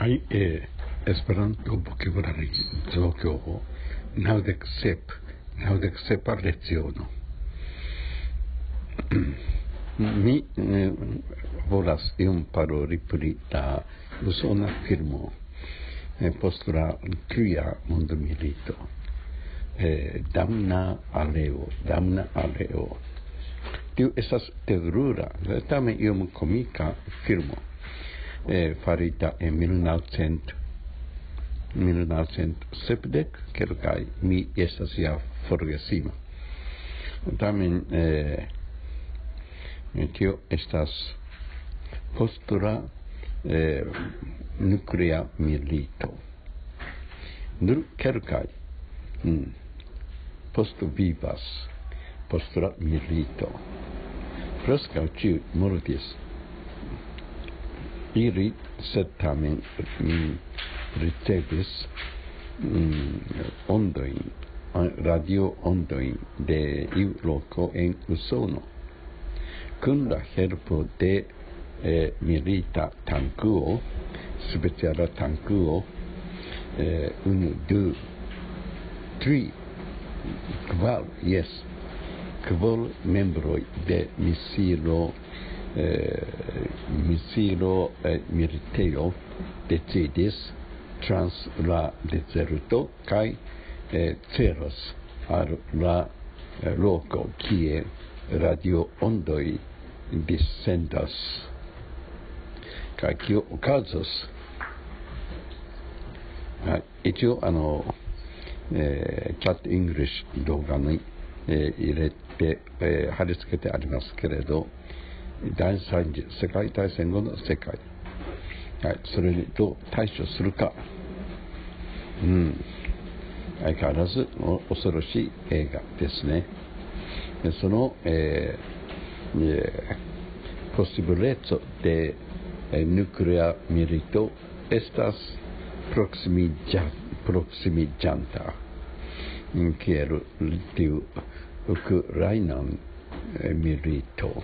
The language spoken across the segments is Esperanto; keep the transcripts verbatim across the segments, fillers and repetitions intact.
Ai e Esperanto Vocabulary Zogo naŭdek sep, naŭdek sepa leciono. Mi eh, volas iom paroli pri la usona filmo eh, post la tria mondmilito. Eh, Damna Aleo, Damna Aleo. Tiu estas terura, tamen iom komika filmo, eh, farita en mil naŭcent, mil naŭcent sepdek kelkaj, mi estas ja forgesima. Tamen eh, tio estas post la eh, nuklea milito. Nur kelkaj mm, post vivas post la milito. Preskaŭ ĉiuj mortis. Ili, sed tamen mm, ricevis mm, ondojn, radio ondojn de iu loko en Usono. Kun la helpo de eh, milita tankuo, speciala tankuo, eh, unu, du, tri, kvar, jes, kvar membroj de misilo, eh, misilo eh, militejo decidis trans la dezerto kaj eh, celos al la eh, loko, kie radio ondoj dissendas. Kaj kio okazos? Ah, 一応、あの、えー、Chat English 動画に、えー入れて、えー貼り付けてありますけれど、第三次世界大戦後の世界、はい、それにどう対処するか、うん、相変わらずお恐ろしい映画ですね。でその、えーえー、posible で、えー、nuclear milito estas proximiĝa- proximiĝanta, mm, kiel tiu Ukrainan eh, milito.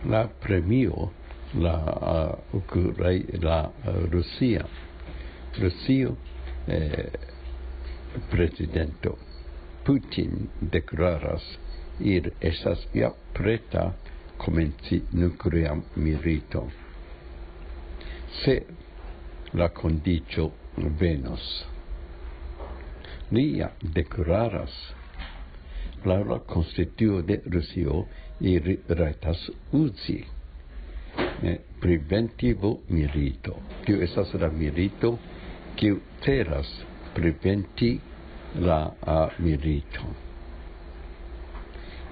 La premio, la uh, Ukraina, la uh, Rusia, Rusio, eh, prezidento Putin deklaras, ili estas ja preta komenci nuklean militon. Se la kondiĉo venos. Li ja deklaras, laŭ la konstituo de Rusio ili rajtas uzi eh, preventivo milito. Tio estas la milito, kiu celas preventi la uh, milito.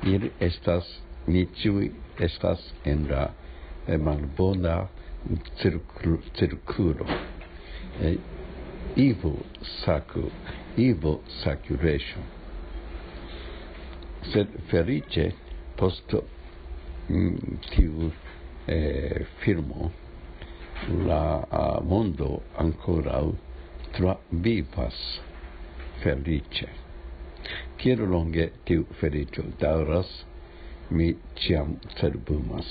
Ili estas, ni ĉiuj estas en la eh, malbona cirklu- cirkulo. Eh, evil circle, evil circulation. Sed feliĉe post mm, tiu eh, filmo la uh, mondo ankoraŭ travivas feliĉe. Kiel longe tiu feliĉo daŭras, mi ĉiam cerbumas.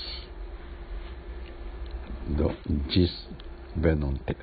Do, ĝis venonte.